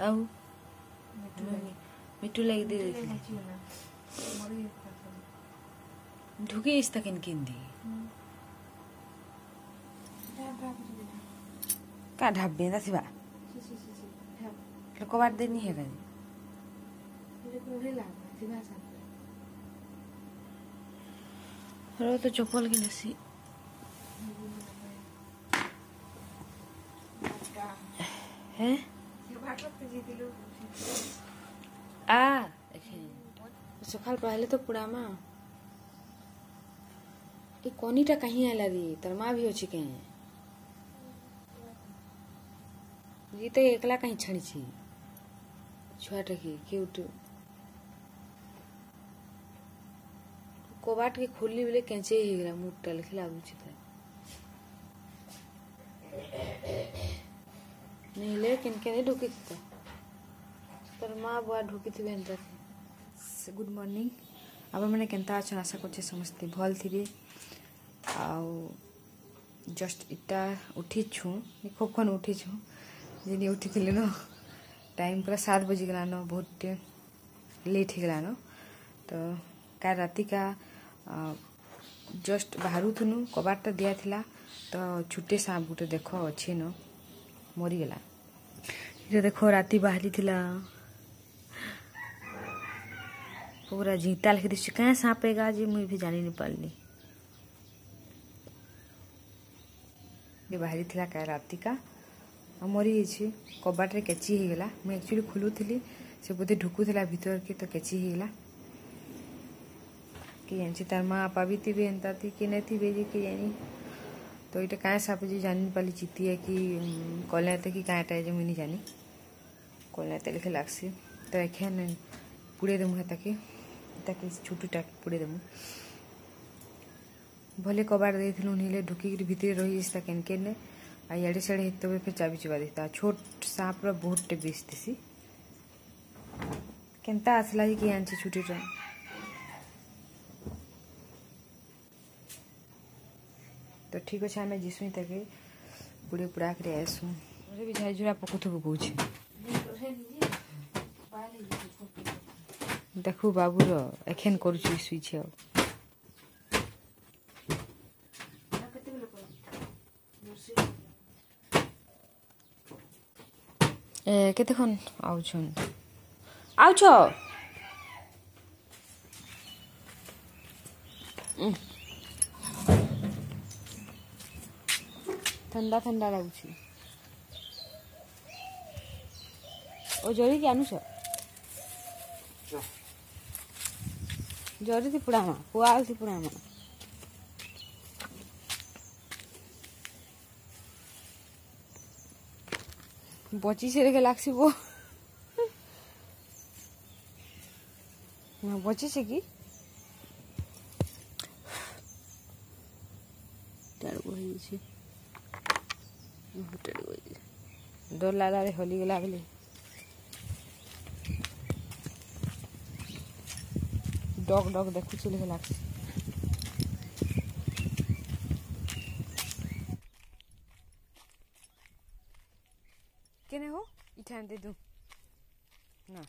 ଆଉ ମିଠୁ ଲାଗି ଦେଇ ଦେଇଥିଲି। ঢুকে গেছে কেন কেন দি কা ঢাববে না থিবা কবাট দেনি হে কাজ। তো চপল কিনেছি। হ্যাঁ আ সকাল পহলে তো পুরামা এই কনিটা কাহি আইলা রে? তার মা भी ଅଛି কেଁ? ଗୀତ ଏକଲା କାହିଁ ଛାଡ଼ିଛି ଛୁଆଟା କି କେଉଁଠୁ କବାଟ के खोली बोले କେଞ୍ଚେଇ ହେଇଗଲା ମୁଠଟା ଲେଖି ଲାଗୁଛି ତ ନହେଲେ କେନ୍ କେନ୍ ଢୁକିଥିତା ତାର ମା ବୁଆ ଢୁକିଥିବେ ଏନ୍ତା। ଗୁଡ୍ ମର୍ଣ୍ଣିଂ, ଆପଣମାନେ କେନ୍ତା ଅଛନ୍? ଆଶା କରୁଛେ ସମସ୍ତେ ଭଲ୍ ଥିବେ। ଆଉ ଜଷ୍ଟ ଇଟା ଉଠିଛୁଁ, ଖୁବ୍ ଖନ୍ ଉଠିଛୁଁ। ଯେନି ଉଠିଥିଲି ନ ଟାଇମ୍ ପୁରା 7 ବଜିଗଲାନ, ବହୁତ ଲେଟ୍ ହେଇଗଲାନ। ତ କାଲ୍ ରାତିକା ଜଷ୍ଟ ବାହାରୁଥିନୁ, କବାଟଟା ଦିଆଥିଲା ତ ଛୁଟେ ସାପ ଗୋଟେ ଦେଖ ଅଛି ନ, ମରିଗଲା। ଏଇଟା ଦେଖ ରାତି ବାହାରିଥିଲା, ପୁରା ଜିତା ଲେଖି ଦିଶୁଛି। କାଁ ସାପ ଏଗା ଯେ ମୁଇଁ ବି ଜାଣି ନି ପାରିଲି। ବାହାରିଥିଲା କାଲ୍ ରାତିକା ଆଉ ମରିଯାଇଛି, କବାଟରେ କେଚି ହେଇଗଲା। ମୁଇଁ ଆକ୍ଚୁଆଲି ଖୋଲୁଥିଲି, ସେ ବୋଧେ ଢୁକୁଥିଲା ଭିତରକେ ତ କେଚି ହେଇଗଲା। କି ଜାଣିଛି ତାର ମା ବାପା ବି ଥିବେ ଏନ୍ତା ଥି କି ନାଇଁ ଥିବେ ଯେ କି ଜାଣି। ତ ଏଇଟା କାଁ ସାପ ଯେ ଜାଣି ପାରିଲି, ଚିତିଏ କି କଲେତେ କି କାଁଟା ଯେ ମୁଇଁ ନି ଜାନି। କଲେତେ ଲେଖେ ଲାଗ୍ସି। ତ ଏଖେନ୍ ପୁଡ଼େଇ ଦେମୁ ହେତାକେ, ତାକେ ଛୁଟୁଟା ପୁଡ଼େଇ ଦେମୁ। ଭଲେ କବାଟ ଦେଇଥିଲୁ, ନିଲେ ଢୁକିକିରି ଭିତରେ ରହିଯାଇସି କେନ୍ କେନେ ଆଉ ଇଆଡ଼େ ସିଆଡ଼େ ହେଇଥିବେ, ଫେର୍ ଚାବି ଚୁବା ଦେଇତା। ଛୋଟ ସାପର ବହୁତଟେ ବିଷ ଥିସି। କେନ୍ତା ଆସିଲା ଯେ କିଏ ଆଣିଛି ଛୁଟିଟା। ତ ଠିକ୍ ଅଛି, ଆମେ ଯିସୁଁ ତାକେ ପୁଡ଼େ ପୁଡ଼ା କରି ଆଏସୁଁ। ଘରେ ବି ଝାଇଝୁରା ପକଉଥିବୁ କହୁଛି। ଦେଖୁ ବାବୁର ଏଖେନ୍ କରୁଛି ଶୁଇଛି। ଆଉ ଏ କେତେକ୍ଷণ ଆଉଛନ୍ ଆଉଛ? ଥଣ୍ଡା ଥଣ୍ଡା ଲାଗୁଛି। ଓ ଜରିକି ଆନୁଛ? ଜରି ପୁଡ଼ାମା, ପୁଆଲ ପୁଡ଼ାମା। ବଚିছে রেখে লাগছি বো না, বচিছে কি ହେଇଯାଇଛି, ଡର ଲାଗଲା ରେ, ହଲିଗଲା ବୋଲି। ଡକ୍ ଡକ୍ ଦେଖୁଛି ଲେଖେ ଲାଗ୍ସି। କେନେ ହୋ ଇଠାନେ ଦେ ନା।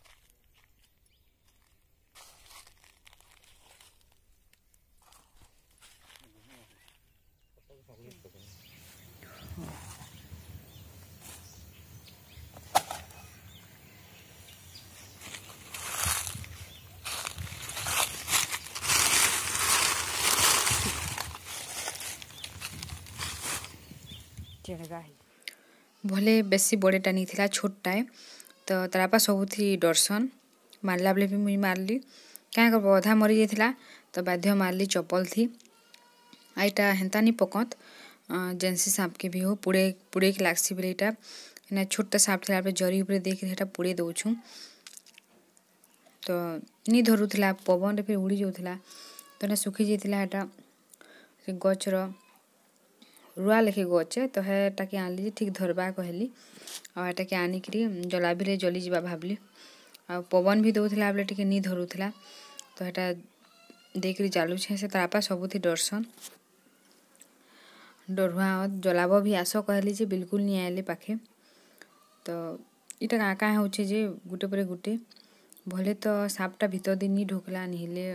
ଭଲେ ବେଶୀ ବଡ଼ଟା ନି ଥିଲା, ଛୋଟଟାଏ। ତ ତାର୍ ବାପା ସବୁଥି ଡରସନ୍। ମାରଲା ବେଲେ ବି ମୁଇଁ ମାରଲି, କାଁ କରବ, ଅଧା ମରିଯାଇଥିଲା ତ ବାଧ୍ୟ ମାରଲି ଚପଲ ଥି। ଆଉ ଇଟା ହେନ୍ତା ନି ପକତ୍, ଯେନ୍ସି ସାପକେ ବି ହଉ ପୁଡ଼େଇକେ ଲାଗ୍ସି ବେଲେ ଇଟା ଏନା ଛୋଟଟା ସାପ ଥିଲା ବେଲେ ଜରି ଉପରେ ଦେଇକିରି ହେଟା ପୁଡ଼େଇ ଦଉଛୁଁ। ତ ନି ଧରୁଥିଲା, ପବନରେ ଫେର୍ ଉଡ଼ି ଯାଉଥିଲା। ତ ଏଟା ଶୁଖି ଯାଇଥିଲା। ହେଟା ସେ ଗଛର ରୁଆ ଲେଖେ ଗଛ୍ ତ ହେଟାକେ ଆଣିଲି ଯେ ଠିକ୍ ଧରବା କହିଲି। ଆଉ ହେଟାକେ ଆନିକିରି ଜଲାବିଲେ ଜଲିଯିବା ଭାବଲି। ଆଉ ପବନ ବି ଦଉଥିଲା ବେଲେ ଟିକେ ନି ଧରୁଥିଲା। ତ ହେଟା ଦେଇକିରି ଜାଲୁଛେଁ। ସେ ତାର୍ ବାପା ସବୁଥି ଡରସନ୍, ଡରୁଆ। ଜଲାବ ବି ଆସ କହିଲି ଯେ ବିଲକୁଲ ନି ଆଇଲେ ପାଖେ। ତ ଇଟା କାଁ କାଁ ହଉଛେ ଯେ ଗୁଟେ ପରେ ଗୁଟେ। ଭଲେ ତ ସାପଟା ଭିତର ଦି ନି ଢୁକଲା, ନି ହେଲେ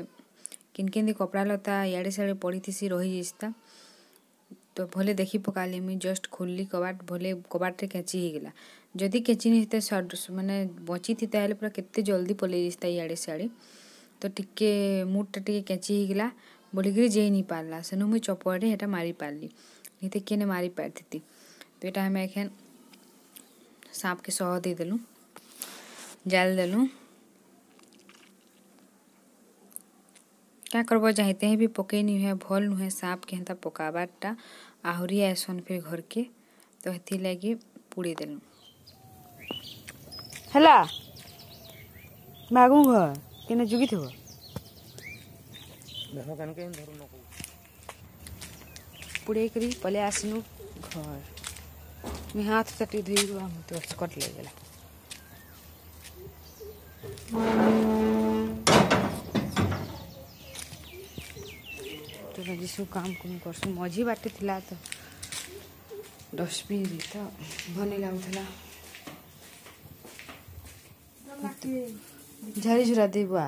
କେନ୍ କେନ୍ କପଡ଼ା ଲତା ଇଆଡ଼େ ସିଆଡ଼େ ପଡ଼ିଥିସି ରହିଯାଇସି। ତ ଭଲେ ଦେଖି ପକାଲି ମୁଇଁ, ଜଷ୍ଟ ଖୋଲଲି କବାଟ, ଭଲେ କବାଟରେ କେଞ୍ଚି ହେଇଗଲା। ଯଦି କେଞ୍ଚି ନି ହେଇତେ, ମାନେ ବଞ୍ଚିଥିତା ହେଲେ ପୁରା କେତେ ଜଲ୍ଦି ପଲେଇ ଯାଇତା ଇଆଡ଼େ ସିଆଡ଼େ। ତ ଟିକେ ମୁଡ଼ଟା ଟିକେ କେଞ୍ଚି ହେଇଗଲା ବୋଲିକିରି ଯେଇ ନି ପାରଲା। ସେନୁ ମୁଇଁ ଚପଲରେ ହେଟା ମାରି ପାରଲି, ନିତେ କେନେ ମାରି ପାରିଥିତି। ତ ଏଇଟା ଆମେ ଏଖେନ୍ ସାପକେ ସହ ଦେଇଦେଲୁ, ଜାଲ ଦେଲୁ। କାଁ କରବ, ଯାହିଁତେ ବି ପକେଇ ନି ହୁଏ, ଭଲ୍ ନୁହେଁ ସାପକେ ହେନ୍ତା ପକାବାରଟା। ଆହୁରି ଆଏସନ୍ ଫିର୍ ଘରକେ, ତ ହେଥିର୍ଲାଗି ପୁଡ଼େଇ ଦେଲୁ। ହେଲା ମାଗୁ ଘର କେନେ ଯୁଗିଥିବ। ପୁଡ଼େଇ କରି ପଲେଇ ଆସିନୁ ଘର। ମୁଇଁ ହାତ ଟିକେ ଧୋଇ ତ କଟ ଲାଗିଗଲା। ତ ଯିସୁ କାମ କୁମ କରସୁଁ। ମଝି ବାଟେ ଥିଲା ତ ଡଷ୍ଟବିନ୍ ତ ଭଲ ନାଇଁ ଲାଗୁଥିଲା। ଝାରି ଝୁରା ଦେବା।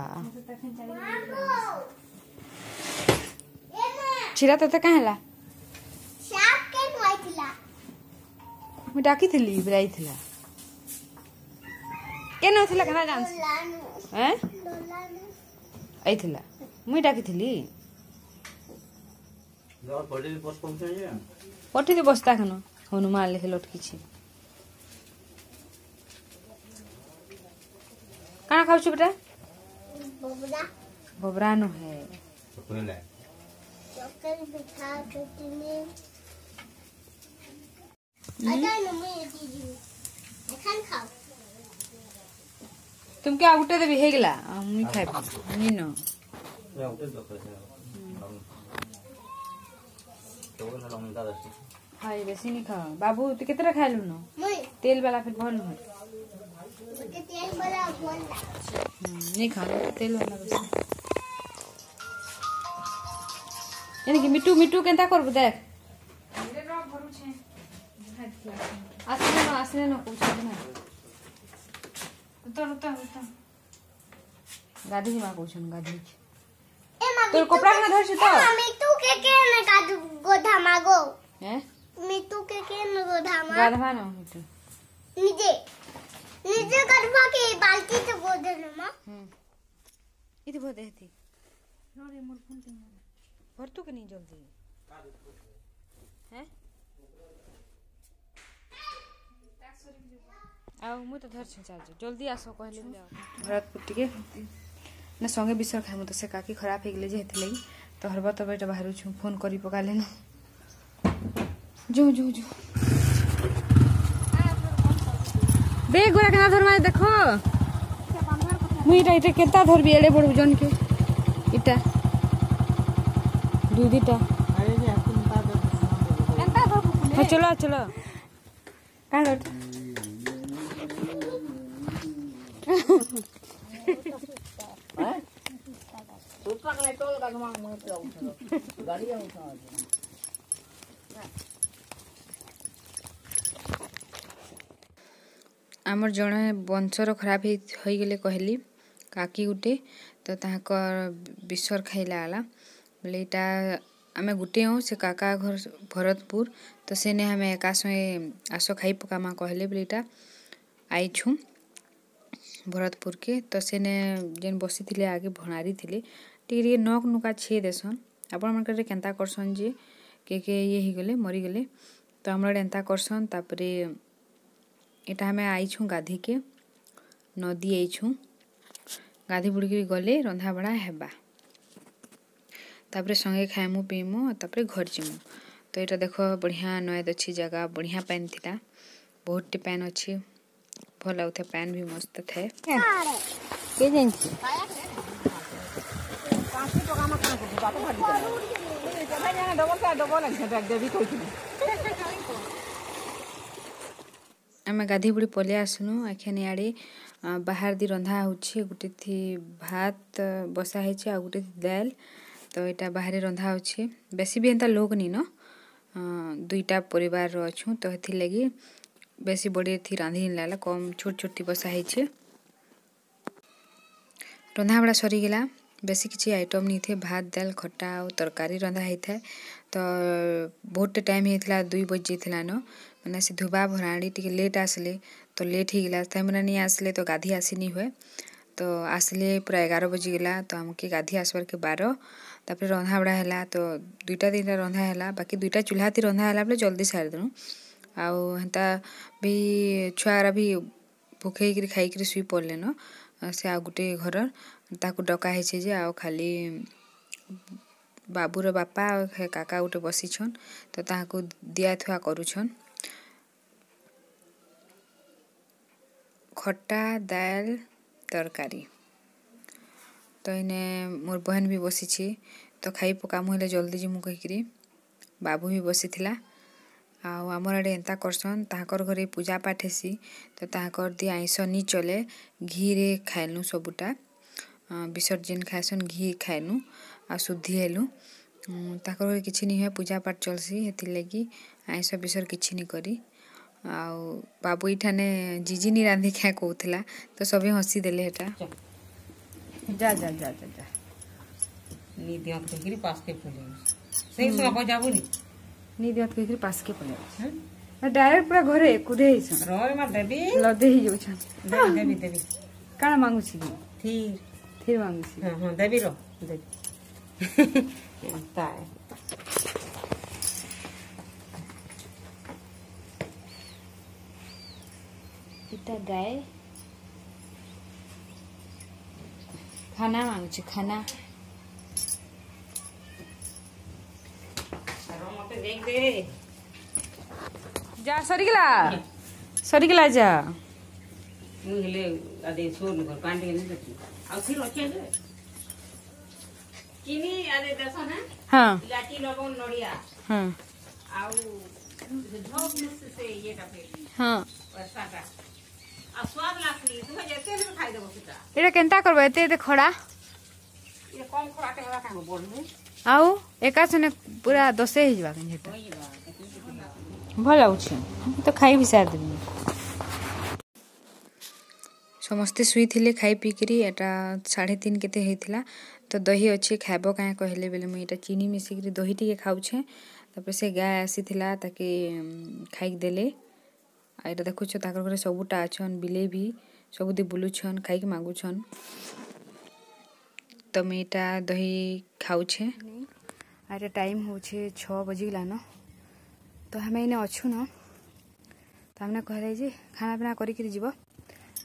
ଛିରା ତତେ କାଁ ହେଲା? ମୁଇଁ ଡାକିଥିଲି ବେଲେ ଆଇଥିଲା। କେନ ଥିଲା, କେନ୍ତା ଜାନ୍ସି? ଏଁ, ଆଇଥିଲା, ମୁଇଁ ଡାକିଥିଲି। ପଠେଇ ବସ୍ତା ଖାନ ହନୁମାନ ଲେଖେ ଲଟକିଛି। କାଣା ଖାଉଛୁ ବେଟା? ବବରା ନୁହେଁ। ତୁମକେ ଆଉ ଗୋଟେ ଦେବି, ହେଇଗଲା, ମୁଇଁ ଖାଇବି ନିନ। ହାଇ, ବେଶୀ ନି ଖାଅ ବାବୁ। ତୁ କେତେଟା ଖାଇଲୁ ନ? ତେଲ ବାଲା ଫେର ଭଲ ନୁହେଁ। ନି ଖା ତେଲ ବାଲା ବେଶୀ। ଏନିକି ମିଟୁ, ମିଟୁ କେନ୍ତା କରବୁ ଦେଖ। ଆସିଲେ ନ, ଆସିଲେ ନ କହୁଛନ୍ତି ନା। ଉତର ଉତର ଉତର, ଗାଧି ଯିବା କହୁଛନ୍। ଗାଧେଇକି ତୋର କପଡ଼ା ଖାନା ଧରିଛୁ ତ? ମିଟୁ କେ କେନ ଗୋଧା ମାଗୋ? ହେ, ମିଟୁ କେ କେନ ଗୋଧା ମା? ଗାଧବା ନା ମିଟୁ। ନିଜେ ନିଜେ ଗାଧବା के बाल्टी तो गोदे न मा। ଇତି ଭୋ ଦେହତି ଭରତୁ के नहीं जल्दी हैं। ଆଉ ମୁଁ ତ ଧରିଛି ଚାର୍ଜ, ଜଲ୍ଦି ଆସ କହିଲେ। ଭରତପୁର ଟିକେ ନା ସଙ୍ଗେ ବିଷର ଖାଇମୁ ତ ସେ କାକି ଖରାପ ହେଇଗଲେ ଯେ ହେଥିଲାଗି ତ ହରବ ତବ ଏଇଟା ବାହାରୁଛୁ। ଫୋନ୍ କରି ପକାଲେନ। ଯୋ ଯୋ ଯୋ, ବେଗ ଗୁଡ଼ା କେନ୍ତା ଧରମା ଦେଖ। ମୁଇଁ ଏଇଟା କେନ୍ତା ଧରବି ଏଡ଼େ ବଡ଼ ଜନକେ? ଇଟା ଦୁଇ ଦୁଇଟା। ହଁ, ଚलो ଚलो। କାଁ ଆମର୍ ଜଣେ ବଂଶର ଖରାପ ହେଇଗଲେ କହିଲି କାକି ଗୁଟେ, ତ ତାହାକର୍ ବିଷର ଖାଇ ଲାଗଲା ବୋଲେ। ଇଟା ଆମେ ଗୁଟେ ହଉଁ, ସେ କାକା ଘର ଭରତପୁର, ତ ସେନେ ଆମେ ଏକା ସଙ୍ଗେ ଆସ ଖାଇ ପକାମା କହିଲେ ବୋଲେ ଇଟା ଆଇଛୁଁ ଭରତପୁରକେ। ତ ସେନେ ଯେନ୍ ବସିଥିଲେ ଆଗେ ଭଣାରୀ ଥିଲେ, ଟିକେ ଟିକେ ନଖ ନୁକା ଛିଏ ଦେସନ୍। ଆପଣମାନଙ୍କର କେନ୍ତା କରସନ୍ ଯେ କେ କେ ଇଏ ହେଇଗଲେ, ମରିଗଲେ? ତ ଆମର ଆଡ଼େ ଏନ୍ତା କରସନ୍। ତାପରେ ଏଇଟା ଆମେ ଆଇଛୁଁ ଗାଧିକେ, ନଦୀ ଆଇଛୁଁ ଗାଧି ବୁଡ଼ିକିରି। ଗଲେ ରନ୍ଧାବଢ଼ା ହେବା, ତାପରେ ସଙ୍ଗେ ଖାଇମୁ ପିଇମୁ, ତାପରେ ଘର ଯିମୁ। ତ ଏଇଟା ଦେଖ, ବଢ଼ିଆ ନଏଦ ଅଛି ଜାଗା, ବଢ଼ିଆ ପାଏନ୍ ଥିଲା, ବହୁତଟି ପାଏନ୍ ଅଛି, ଭଲ ଲାଗୁଥାଏ, ପାଏନ୍ ବି ମସ୍ତ ଥାଏ। କେ ଜାଣିଛି? ଆମେ ଗାଧେଇ ବୁଡ଼ି ପଲେଇ ଆସିନୁ। ଏଖେନ୍ ଇଆଡ଼େ ବାହାର ଦି ରନ୍ଧା ହଉଛି। ଗୁଟେ ଥି ଭାତ ବସା ହେଇଛି ଆଉ ଗୁଟେ ଦାଏଲ୍। ତ ଏଇଟା ବାହାରେ ରନ୍ଧା ହଉଛି। ବେଶୀ ବି ଏନ୍ତା ଲୋକ୍ ନିନ, ଦୁଇଟା ପରିବାରର ଅଛୁଁ, ତ ହେଥିର୍ଲାଗି ବେଶୀ ବଡ଼ି ଥି ରାନ୍ଧି ନି ଲାଗଲା, କମ୍ ଛୋଟ ଛୋଟ ଥି ବସା ହେଇଛେ। ରନ୍ଧାବଢ଼ା ସରିଗଲା, ବେଶୀ କିଛି ଆଇଟମ୍ ନି थे, ଭାତ ଦାଲ ଖଟା ଆଉ ତରକାରୀ ରନ୍ଧା ହେଇଥାଏ। ତ ବହୁତଟେ ଟାଇମ୍ ହେଇଥିଲା, 2 ବଜି ଯାଇଥିଲା ନ, ମାନେ ସେ ଧୁବା ଭରାଣି ଟିକେ ଲେଟ୍ ଆସିଲେ ତ ଲେଟ୍ ହେଇଗଲା। ସେମାନେ ନି ଆସିଲେ ତ ଗାଧି ଆସି ନି ହୁଏ, ତ ଆସିଲେ ପୁରା 11 ବଜିଗଲା। ତ ଆମକେ ଗାଧି ଆସବାର୍କେ 12। ତାପରେ ରନ୍ଧାବଢ଼ା ହେଲା, ତ 2ଟା 3ଟା ରନ୍ଧା ହେଲା, ବାକି 2ଟା ଚୁଲ୍ହାଥି ରନ୍ଧା ହେଲା ବେଲେ ଜଲ୍ଦି ସାରିଦେଲୁ। ଆଉ ହେନ୍ତା ବି ଛୁଆରା ବି ଭୁଖେଇକିରି ଖାଇକିରି ଶୁଇ ପଡ଼ଲେନ। ସେ ଆଉ ଗୋଟେ ଘରର୍ ତାକୁ ଡକା ହେଇଛେ ଯେ ଆଉ ଖାଲି ବାବୁର ବାପା ଆଉ ହେ କାକା ଗୋଟେ ବସିଛନ୍, ତ ତାହାକୁ ଦିଆଥୁଆ କରୁଛନ୍। ଖଟା ଦାଏଲ୍ ତରକାରୀ। ତ ଏଇନେ ମୋର୍ ବହେନ୍ ବି ବସିଛି, ତ ଖାଇ ପକାମୁ ହେଲେ ଜଲ୍ଦି ଯିମୁ କହିକିରି ବାବୁ ବି ବସିଥିଲା। ଆଉ ଆମର୍ ଆଡ଼େ ଏନ୍ତା କରସନ୍, ତାହାକର୍ ଘରେ ପୂଜା ପାଠ୍ ହେସି, ତ ତାହାକର୍ ଦି ଆଇଁଷ ନି ଚଲେ, ଘିରେ ଖାଏଲୁ ସବୁଟା। ବିସର୍ଜନ୍ ଖାଏସନ୍, ଘି ଖାଏଲୁ ଆଉ ଶୁଦ୍ଧି ହେଲୁ। ତାକର୍ ଘରେ କିଛି ନି ହୁଏ, ପୂଜା ପାଠ୍ ଚଲ୍ସି, ହେଥିର୍ଲାଗି ଆଇଁଷ ବିଷର୍ କିଛି ନି କରି। ଆଉ ବାବୁ ଏଇଠାନେ ଜିଜି ନି ରାନ୍ଧି ଖାଏ କହୁଥିଲା, ତ ସଭେ ହସିଦେଲେ ହେଟା। ଯା ଯା ଯା ଯା ଯା। ନି ଦିଅତ କହିକିରି ପାସ୍କେ ପଲେଇ ସେଇ ସମୟ ଯାବୁନି। ନି ଦିଅତ କହିକିରି ପାସ୍କେ ପଲେଇ ଡାଇରେକ୍ଟ ପୁରା ଘରେ କୁଦେ ହେଇଛନ୍। ରରେ ମା ଦେବି। ଲଦେ ହେଇଯାଉଛନ୍। ଦେବି ଦେବି ଦେବି। କାଣା ମାଗୁଛି କି? ଥିର୍। ଥିର୍ ମାଗୁଛି? ହଁ ହଁ, ଦେବି ର ଦେବି। ଏନ୍ତା ଇଟା ଗାଏ ଖାନା ମାଗୁଛି, ଖାନା। ମତେ ଦେଇ ଦେ। ଯା, ସରିଗଲା ସରିଗଲା, ଯା। ମୁଁ ହେଲେ ଆଦେ ସୋନ କର ପାଣି ଟିକେ ନେଇ ଆଉ ଥିର୍ ଅଛି ଯେ ଚିନି ଆଦେ ଦେସ ନା। ହଁ। ଇଲାଚି, ଲବଙ୍ଗ, ନଡ଼ିଆ। ହଁ। ଆଉ ଝୋପ ସେ ଇଏଟା ଫେର। ହଁ। ପଇସାଟା ଆଉ ସ୍ୱାଦ ଲାଗ୍ସି, ତୁମେ ଯେତେ ହେଲେ ବି ଖାଇଦେବ ସେଟା। ଏଇଟା କେନ୍ତା କରବ ଏତେ ଏତେ ଖଡ଼ା? ଇଏ କମ୍ ଖଡ଼ାଟେ ହେବା କାଁ ବଢ଼ବେ? ଆଉ ଏକା ସନେ ପୁରା ଦଶେ ହେଇଯିବା କେନ୍ ସେଟା। ଭଲ ଲାଗୁଛି ତ, ଖାଇ ବି ସାରିଦେବି। ସମସ୍ତେ ଶୁଇଥିଲେ ଖାଇ ପିଇକିରି। ଏଟା 3:30 କେତେ ହେଇଥିଲା। ତ ଦହି ଅଛି, ଖାଇବ କାଁ କହିଲେ ବେଲେ ମୁଇଁ ଏଇଟା ଚିନି ମିଶିକିରି ଦହି ଟିକେ ଖାଉଛେଁ। ତାପରେ ସେ ଗାଏ ଆସିଥିଲା, ତାକେ ଖାଇକି ଦେଲେ। ଆଉ ଏଇଟା ଦେଖୁଛ, ତାଙ୍କର ଘରେ ସବୁଟା ଅଛନ୍, ବିଲେଇ ବି ସବୁଦି ବୁଲୁଛନ୍, ଖାଇକି ମାଗୁଛନ୍। ତ ମୁଇଁ ଏଇଟା ଦହି ଖାଉଛେଁ। ଆଉ ଏଇଟା ଟାଇମ୍ ହଉଛେ 6 ବଜିଗଲାନ। ତ ଆମେ ଏଇନେ ଅଛୁ ନ, ତ ଆମେ କହିଲେ ଯେ ଖାନା ପିନା କରିକିରି ଯିବ।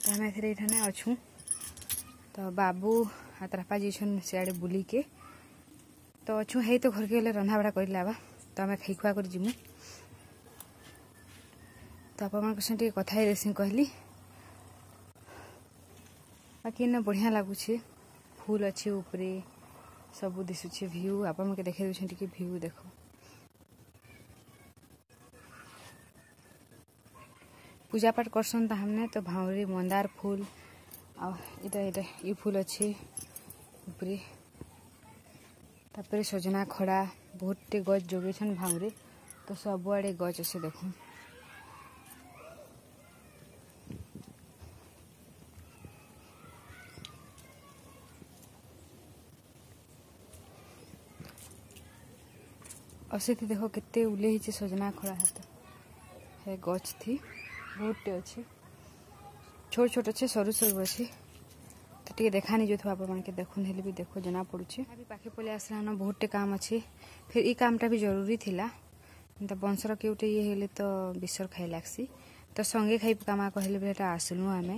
ତ ଆମେ ଏଥିରେ ଏଇଠାନେ ଅଛୁଁ। ତ ବାବୁ ଆଉ ତାର ବାପା ଯାଇଛନ୍ ସିଆଡ଼େ ବୁଲିକେ, ତ ଅଛୁଁ ହେଇ। ତ ଘରକେ ଗଲେ ରନ୍ଧାବଢ଼ା କରିଲାବା, ତ ଆମେ ଖାଇ ଖୁଆ କରି ଯିମୁ। ତ ଆପଣମାନଙ୍କ ସାଙ୍ଗେ ଟିକେ କଥା ହେଇଦେସି କହିଲି। ବାକି ଏନେ ବଢ଼ିଆ ଲାଗୁଛେ, ଫୁଲ୍ ଅଛି ଉପରେ, ସବୁ ଦିଶୁଛେ ଭିଉ। ଆପଣଙ୍କୁ ଦେଖେଇ ଦଉଛେ ଟିକେ ଭିଉ ଦେଖ। ପୂଜା ପାଠ କରସନ୍ ତାହାମାନେ, ତ ଭାଉଁରୀ, ମନ୍ଦାର ଫୁଲ ଆଉ ଏଇଟା ଇ ଫୁଲ ଅଛି ଉପରେ। ତାପରେ ସଜନା ଖଡ଼ା ବହୁତଟେ ଗଛ ଯୋଗେଇଛନ୍ ଭାଉଁରୀ, ତ ସବୁଆଡ଼େ ଗଛ ଅଛି ଦେଖୁନ୍। ଆଉ ସେଠି ଦେଖ କେତେ ଉଲେ ହେଇছে ସଜନା ଖଡ଼ା। ହାତ ହେ ଗଛ ଥି ବହୁତଟେ ଅଛି, ଛୋଟ ଛୋଟ ଅଛି, ସରୁ ସରୁ ଅଛି। ତ ଟିକେ ଦେଖା ନି ଯାଉଥିବା ଆପଣମାନକେ, ଦେଖୁନ୍ ହେଲେ ବି ଦେଖ ଜଣା ପଡୁଛି। ବି ପାଖେ ପଳେଇ ଆସିଲାନ, ବହୁତଟେ କାମ ଅଛି। ଫିର୍ ଇ କାମଟା ବି ଜରୁରୀ ଥିଲା। ଏନ୍ତା ବଂଶର କେଉଟେ ଇଏ ହେଲେ ତ ବିଷର ଖାଇ ଲାଗ୍ସି, ତ ସଙ୍ଗେ ଖାଇ ପକାମା କହିଲେ ବେଲେ ଏଟା ଆସିଲୁ ଆମେ।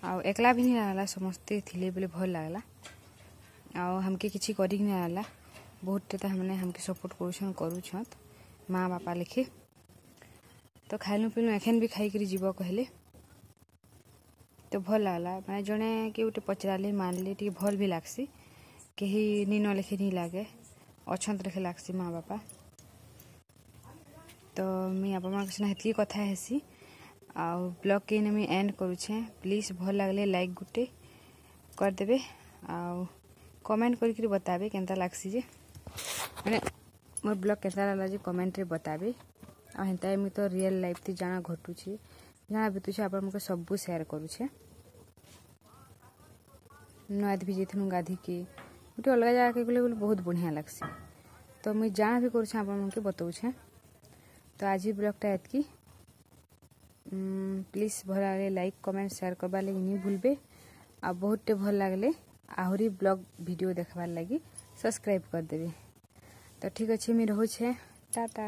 ଆଉ ଏକଲା ବି ନି ଲାଗଲା, ସମସ୍ତେ ଥିଲେ ବେଲେ ଭଲ ଲାଗଲା। ଆଉ ଆମକେ କିଛି କରିକି ନି ଲାଗଲା, ବହୁତଟେ ତାମାନେ ଆମକେ ସପୋର୍ଟ କରୁଛନ୍ କରୁଛନ୍ ମା ବାପା ଲେଖେ। ତ ଖାଇଲୁ ପିଇଲୁ, ଏଖେନ୍ ବି ଖାଇକିରି ଯିବ କହିଲେ ତ ଭଲ ଲାଗଲା। ମାନେ ଜଣେ କିଏ ଗୋଟେ ପଚରାଲେ ମାନିଲେ ଟିକେ ଭଲ ବି ଲାଗ୍ସି। କେହି ନି ନ ଲେଖେ ନି ଲାଗେ, ଅଛନ୍ ଲେଖେ ଲାଗ୍ସି ମା ବାପା। ତ ମୁଇଁ ଆପଣମାନଙ୍କ ସିନା ହେତ୍କି କଥା ହେସି ଆଉ ବ୍ଲଗ୍ କେ ମୁଇଁ ଏଣ୍ଡ କରୁଛେଁ। ପ୍ଲିଜ୍ ଭଲ ଲାଗଲେ ଲାଇକ୍ ଗୁଟେ କରିଦେବେ ଆଉ କମେଣ୍ଟ କରିକିରି ବତାବେ କେନ୍ତା ଲାଗ୍ସି ଯେ, ମାନେ ମୋର୍ ବ୍ଲଗ୍ କେନ୍ତା ଲାଗଲା ଯେ କମେଣ୍ଟରେ ବତାବେ। ଆଉ ହେନ୍ତା ମୁଇଁ ତ ରିଏଲ୍ ଲାଇଫ୍ ଥି ଜାଣା ଘଟୁଛି, ଜାଣା ବିତୁଛେ, ଆପଣଙ୍କୁ ସବୁ ସେୟାର କରୁଛେ। ନୂଆ ବି ଯାଇଥିନୁ ଗାଧିକି, ଗୋଟେ ଅଲଗା ଜାଗାକେ ଗଲେ ବୋଲେ ବହୁତ ବଢ଼ିଆ ଲାଗ୍ସି। ତ ମୁଇଁ ଜାଣା ବି କରୁଛେ, ଆପଣମାନଙ୍କୁ ବତଉଛେ। ତ ଆଜି ବ୍ଲଗ୍ଟା ଏତ୍କି। ପ୍ଲିଜ୍ ଭଲ ଲାଗଲେ ଲାଇକ୍, କମେଣ୍ଟ, ସେୟାର କରବାର୍ ଲାଗି ନି ଭୁଲବେ। ଆଉ ବହୁତଟେ ଭଲ ଲାଗଲେ ଆହୁରି ବ୍ଲଗ୍ ଭିଡ଼ିଓ ଦେଖବାର୍ ଲାଗି ସବସ୍କ୍ରାଇବ୍ କରିଦେବେ। ତ ଠିକ୍ ଅଛି, ମୁଇଁ ରହୁଛେ। ଟାଟା।